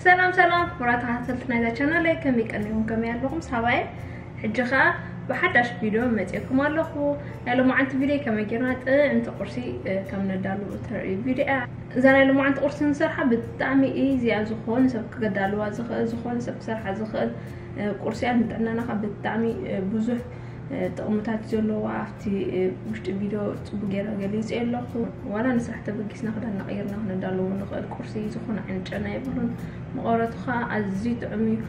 ሰላም ሰላም ክቡራት ተኸታተልቲ ናይዛ ቻናለይ፣ ከመይ ቀኒኹም? ከመይ ኣለኹም? ሳባየ ሕጂ ኸኣ ብሓዳሽ ቪድዮ መጺኤኩም ኣለኹ። ናይ ሎማዓንቲ ቪድዮ ከመይ ጌርና ጥዕምቲ ቁርሲ፣ እ፣ ከም ነዳሉ እተርኢ ቪድዮ እያ። እዛ ናይ ሎማዓንቲ ቁርሲ ንሰርሓ ብጣዕሚ ኢዚያ ዝኾነ ሰብ ክገዳልዋ ዝኽእል፣ ዝኾነ ሰብ ክሰርሓ ዝኽእል፣ እ፣ ቁርሲ እያ። ንጥዕናና ኸኣ ብጣዕሚ፣ እ፣ ብዙሕ፣ እ፣ ጥቕምታት ዘለዋ ኣብቲ፣ እ፣ ውሽጢ ቪድዮ ጽቡቅ ጌረ ገሊጸ ኣለኹ። ዋላ ንስራሕ ተበጊስና ክዳን እናቐየርና ክነዳልዎ ንኽእል ቁርሲ ዝኾነ ዓይነት ጨና የብሉን። መቐረቱ ኸኣ ኣዝዩ ጥዑም እዩ።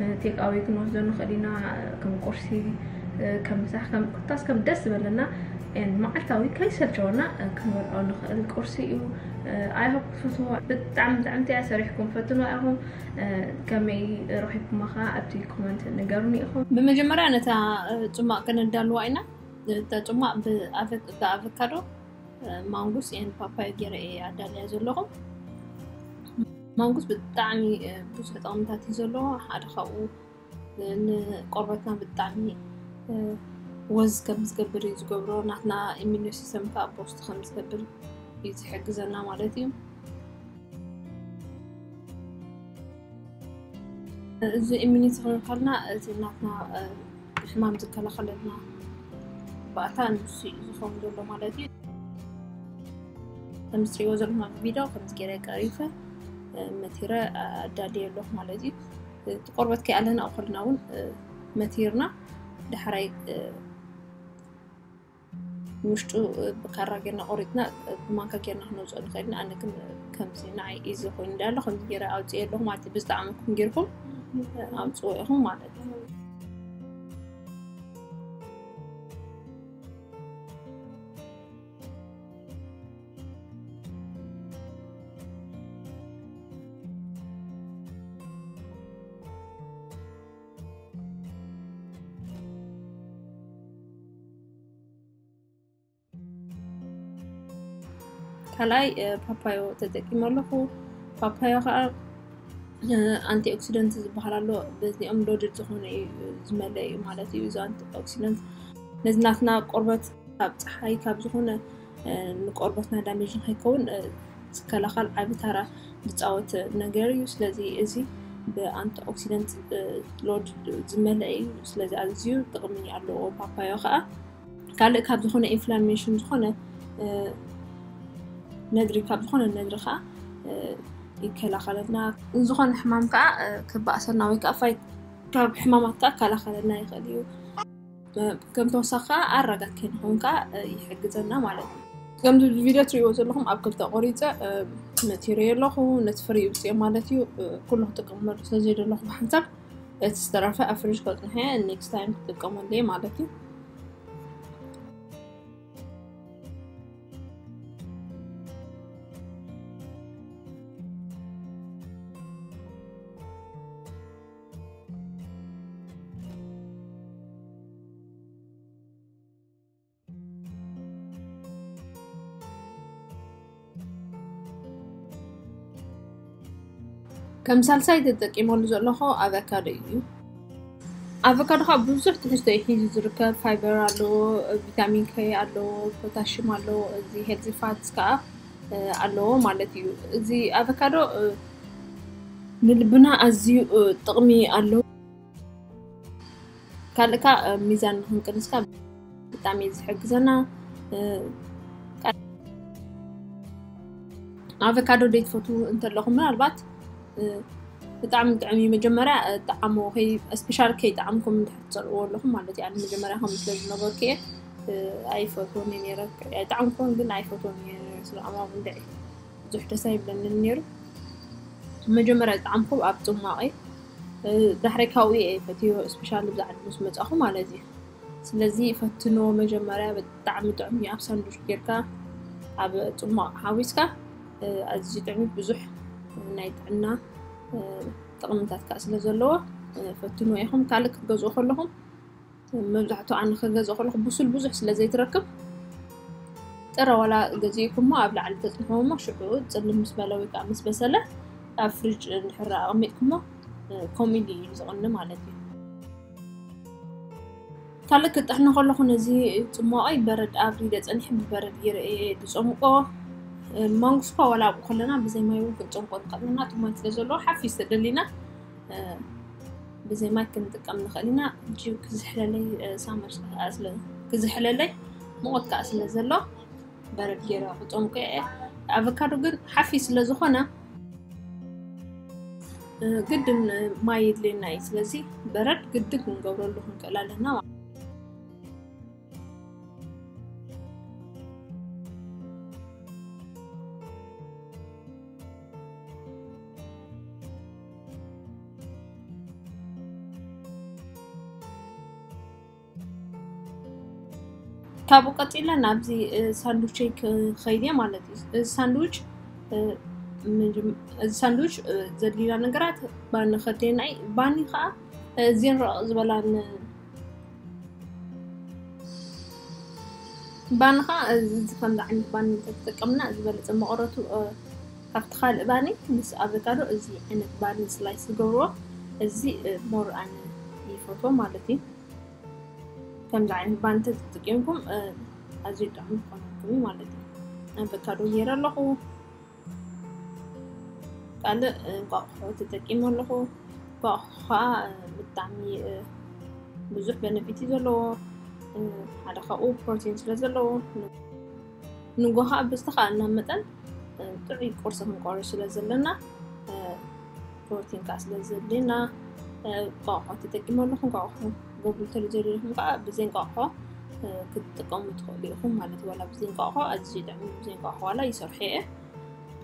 እ፣ ቴክ ኣዌይ ክንወስዶ ንኽእል ኢና። ከም ቁርሲ፣ እ፣ ከም ምሳሕ፣ ከም ኮታስ ከም ደስ ዝበለና፣ እ፣ መዓልታዊ ከይሰልቸወና፣ እ፣ ክንበልዖ ንኽእል ቁርሲ እዩ። እ፣ I hope ክትፈትዎ። ብጣዕሚ ጥዕምቲ እያ። ሰሪሕኩም ፈትንዋ ኢኹም። እ፣ ከመይ ረኺብኩማ ኸኣ ኣብቲ ኮመንት ንገሩኒ ኢኹም። ብመጀመርያ ነታ፣ እ፣ ጽማቕ ከነዳልዋ ኢና። እታ ጽማቕ ብኣቨ-፣ ብኣቨካዶ፣ እ፣ ማንጉስ ኤን ፓፓዮ ገይረ እየ ኣዳልያ ዘለኹ። ማንጉስ ብጣዕሚ፣ እ፣ ብዙሕ ጥቕምታት እዩ ዘለዎ። ሓደ ካብኡ፣ እ፣ ንቆርበትና ብጣዕሚ፣ እ፣ ወዝ ከም ዝገብር እዩ ዝገብሮ። ናትና ኢሚዩን ሲስተም ከኣ ቦስት ከም ዝገብር እዩ ዝሕግዘና ማለት እዩ። እዚ ኢሚኒቲ ክንብል ከለና፣ እዚ ናትና፣ እ፣ ሕማም ዝከላኸለልና ባእታ ንሱ እዩ ዝኸውን ዘሎ ማለት እዩ። ከም እትሪእዎ ዘለኹም ኣብ ቪድዮ ከምዚ ገይረ ቀሪፈ፣ እ፣ መቲረ ኣዳልየ ኣለኹ ማለት እዩ። እቲ ቆርበት ከይኣለና ከለና እውን፣ እ፣ መቲርና ዳሕራይ፣ እ፣ ውሽጡ፣ እ፣ ብካራ ጌርና ቆሪጥና፣ እ፣ ብማንካ ጌርና ክነውፅኦ ንኽእል ኢና። ኣነ ግን፣ እ፣ ከምዚ ንዓይ ኢዚ ኮይኑ እንዳሎ ከምዚ ገይረ ኣውፅኤ ኣለኹ ማለት እዩ። ብዝጠዓመኩም ጌርኩም፣ እ፣ ኣውፅዎ ኢኹም ማለት እዩ። ካልኣይ፣ እ፣ ፓፓዮ ተጠቂመ ኣለኹ። ፓፓዮ ከዓ፣ እ፣ ኣንቲኦክሲደንት ዝበሃል ኣሎ። በዚኦም ሎድድ ዝኾነ እዩ፣ ዝመልአ እዩ ማለት እዩ። እዚ ኣንቲኦክሲደንት ነዚ ናትና ቆርበት ካብ ፀሓይ ካብ ዝኾነ፣ እ፣ ንቆርበትና ዳሜጅ ንከይከውን፣ እ፣ ዝከላኸል ዓቢ ታራ ዝፃወት ነገር እዩ። ስለዚ እዚ ብኣንቲኦክሲደንት፣ እ፣ ሎድ ዝመልአ እዩ። ስለዚ ኣዝዩ ጥቕሚ ኣለዎ ፓፓዮ ከዓ። ካልእ ካብ ዝኾነ ኢንፍላሜሽን ዝኾነ፣ እ፣ ነድሪ ካብ ዝኾነ ነድሪ ከዓ፣ እ፣ ይከላኸለልና። ዝኾነ ሕማም ከዓ፣ እ፣ ክባእሰና ወይ ከዓ ፋይት ካብ ሕማማት ከዓ ይከላኸለልና ይኽእል እዩ። እ፣ ከም ተወሳኺ ከዓ ኣረጋግ ከይንኸውን ከዓ፣ እ፣ ይሕግዘና ማለት እዩ። ከምዚ ቪድዮ ትሪእዎ ዘለኹም ኣብ ክልተ ቆሪፀ፣ እ፣ መቲረዮ ኣለኹ። ነቲ ፍሪ ይውፅኦ ማለት እዩ። እ፣ ኩሉ ክጥቀመሉ ስለ ዘይደለኹ ብሓንሳብ እቲ ዝተረፈ ኣብ ፍሪጅ ከፅንሐ ኔክስት ታይም ክጥቀመሉ እየ ማለት እዩ። ከም ሳልሳይ ተጠቂመሉ ዘለኹ ኣቨካዶ እዩ። ኣቨካዶ ካብ ብዙሕ ትሕዝቶ እዩ ሒዙ ዝርከብ። ፋይበር ኣለዎ፣ ቪታሚን ኬ ኣለዎ፣ ፖታሽም ኣለዎ። እዚ ሄልዚ ፋትስ ከዓ፣ እ፣ ኣለዎ ማለት እዩ። እዚ ኣቨካዶ፣ እ፣ ንልብና ኣዝዩ፣ እ፣ ጥቕሚ ኣለዎ። ካልእ ከዓ፣ እ፣ ሚዛን ንክንቅንስ ከዓ ብጣዕሚ እዩ ዝሕግዘና። እ፣ ኣቨካዶ ዘይትፈትዉ እንተለኹም ምናልባት፣ እ፣ ብጣዕሚ ጥዑም እዩ። መጀመርያ፣ እ፣ ጠዓሞ ከይ-፣ ስፔሻል ከይጠዓምኩም እንድሕር ትፀልእዎ ኣለኹም ማለት እዩ። ኣነ መጀመርያ ከምኡ ስለ ዝነበርኩ እየ፣ እ፣ ኣይፈትዎን እየ ነይረ። ኣይጠዓምኩዎን ግን ኣይፈትዎን እየ ነይረ። ስለ ኣማሙ እንድዒ ብዙሕ ደስ ኣይብለንን ነይሩ። መጀመርያ ዝጠዓምኩ ኣብ ጽሟቕ እዩ። እ፣ ዳሕራይ ካብኡ እየ ፈትዮ፣ ስፔሻሊ ብዛዕባ ምስ መጻኹ ማለት እዩ። ስለዚ ፈትንዎ መጀመርያ፣ ብጣዕሚ ጥዑም እዩ። ኣብ ሳንዱች ጌርካ ኣብ ጽሟቕ ሓዊስካ፣ እ፣ ኣዝዩ ጥዑም እዩ። ብዙሕ ናይ ጥዕና፣ እ፣ ጥቕምታት ከኣ ስለ ዘለዎ፣ እ፣ ፈትንዎ ኢኹም። ካልእ ክትገዝኡ ከለኹም፣ መብዛሕትኡ ኣነ ክገዝእ ከለኹ ብሱል ብዙሕ ስለ ዘይትረክብ፣ ጥረ ዋላ ገዚእኩሞ ኣብ ላዕሊ ተጽንሕዎ እሞ ሽዑ ጽልም ምስ በለ ወይ ከዓ ምስ በሰለ ኣብ ፍሪጅ እንድሕር ኣቐሚጥኩሞ፣ እ፣ ከምኡ ኢሉ እዩ ዝቕኒ ማለት እዩ። ካልእ ክጥሕኖ ከለኹ ነዚ ጽሟቐይ በረድ ኣብሪደ ጸኒሐ ብበረድ ገይረ እየ ዝጸምቆ። ማንጎ ስኳ ዋላ ኣብኡ ከለና ብዘይ ማይ እውን ክንጨምቆ ንኽእል ኢና። እቲ ማይ ስለ ዘለዎ ሓፊስ ተደሊና ብዘይ ማይ ክንጥቀም ንኽእል ኢና። ጅብ ክዝሕለለይ ሳመር ክዝሕለለይ ሙቐት ከዓ ስለ ዘሎ በረድ ገይረ ክጨምቆ እየ። ኣቨካዶ ግን ሓፊስ ስለ ዝኾነ ግድን ማይ የድልየና እዩ። ስለዚ በረድ ግድን ክንገብረሉ ክንክእል ኣለና። ካብኡ ቀፂለ ናብዚ ሳንዱቸይ ክኸይድ እየ ማለት እዩ። እዚ ሳንዱች እዚ ሳንዱች ዘድልዩና ነገራት ባኒ ከድልየና እዩ። ባኒ ከዓ እዚን ረቕ ዝበላን ባኒ ከዓ እዚ ከምዚ ዓይነት ባኒ እንተተጠቀምና ዝበለፀ መቐረቱ ካብቲ ካልእ ባኒ ምስ ኣቨካዶ እዚ ዓይነት ባኒ ስላይስ ዝገብርዎ እዚ ሞር ኣነ ይፈትዎ ማለት እዩ። ከምዚ ዓይነት ባኒ ተጠቂምኩም ኣዝዩ ጥዑም ክኾነልኩም እዩ ማለት እዩ። ኣቨካዶ ገይረ ኣለኹ። ካልእ እንቋቑሖ ተጠቂመ ኣለኹ። እንቋቑሖ ከዓ ብጣዕሚ ብዙሕ በነፊት እዩ ዘለዎ። ሓደ ካብኡ ፕሮቲን ስለ ዘለዎ ንጎ ከዓ ብዝተኻእልና መጠን ጥዑይ ቁርሲ ክንቆርስ ስለ ዘለና ፕሮቲን ከዓ ስለ ዘድልየና እንቋቑሖ ተጠቂመ ኣለኹ። እንቋቑሖ ገብሩ እንተዘይደሊኹም ከዓ ብዘይ እንቋቑሖ ክትጥቀሙ ትኽእሉ ኢኹም ማለት እዩ። ዋላ ብዘይ እንቋቑሖ ኣዝዩ ጥዕም ብዘይ እንቋቑሖ ዋላ ይሰርሑ እየ።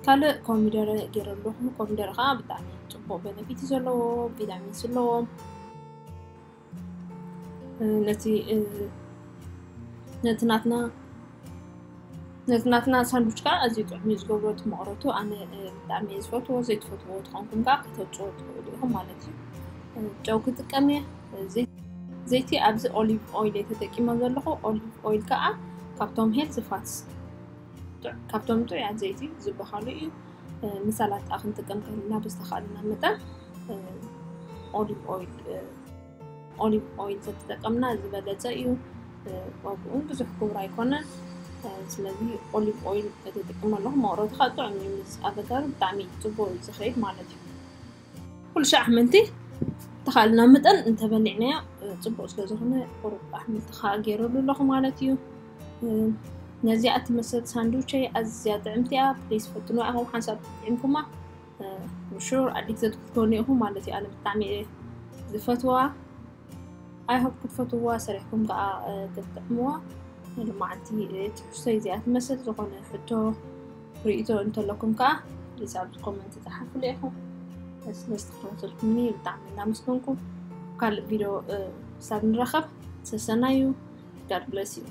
ካልእ ኮሚደረ ገይረ ኣለኹ። ኮሚደረ ከዓ ብጣዕሚ ፅቡቅ በነፊት እዩ ዘለዎ፣ ቪታሚን ሲ ኣለዎ። ነቲ ነቲ ናትና ነቲ ናትና ሳንዱች ከዓ ኣዝዩ ጥዑም እዩ ዝገብሮ። እቲ መቕረቱ ኣነ ብጣዕሚ እየ ዝፈትዎ። ዘይትፈትዎ ትኾንኩም ከዓ ከተውፅዎ ትኽእሉ ኢኹም ማለት እዩ። ጨው ክጥቀም እየ። ዘይቲ ኣብዚ ኦሊቭ ኦይል እየ ተጠቂመ ዘለኹ። ኦሊቭ ኦይል ከዓ ካብቶም ሄልዚ ፋትስ ካብቶም ጥዑያት ዘይቲ ዝበሃሉ እዩ። ንሰላጣ ክንጥቀም ከለና ብዝተኻእለና መጠን ኦሊቭ ኦይል ኦሊቭ ኦይል ተተጠቀምና ዝበለፀ እዩ። ዋግኡ እውን ብዙሕ ክቡር ኣይኮነን። ስለዚ ኦሊቭ ኦይል ተጠቂመ ኣለኹ። መቕረቱ ከዓ ጥዑም እዩ። ምስ ኣቨካዶ ብጣዕሚ ፅቡቅ እዩ ዝኸይድ ማለት እዩ። ኩሉ ሻዕ ኣሕምልቲ ተኻእልና መጠን እንተበሊዕናዮ ፅቡቅ ስለ ዝኾነ ቁሩብ ኣሕምልቲ ከዓ ገይረሉ ኣለኹ ማለት እዩ። ነዚኣ ትመስል ሳንዱቸይ ኣዝያ ጥዕምቲ እያ። ፕሊስ ፈትኑ ኢኹም ሓንሳብ ጥዒምኩማ ሹር ኣዲክትድ ክትኮኑ ኢኹም ማለት እዩ። ኣነ ብጣዕሚ እየ ዝፈትዋ። ኣይሆፕ ክትፈትዋ ሰሪሕኩም ከዓ ክትጥዕምዋ። ልማዓንቲ ትሕዝቶይ እዚኣ ትመስል። ዝኾነ ሕቶ ርእቶ እንተለኩም ከዓ ፕሊስ ኣብዚ ኮመንት ፃሓፉሉ ኢኹም። ስለዝተከታተልኩምኒ ብጣዕሚ እናመስገንኩ ካልእ ቪድዮ ክሳብ ንራኸብ ሰሰናዩ። God bless you።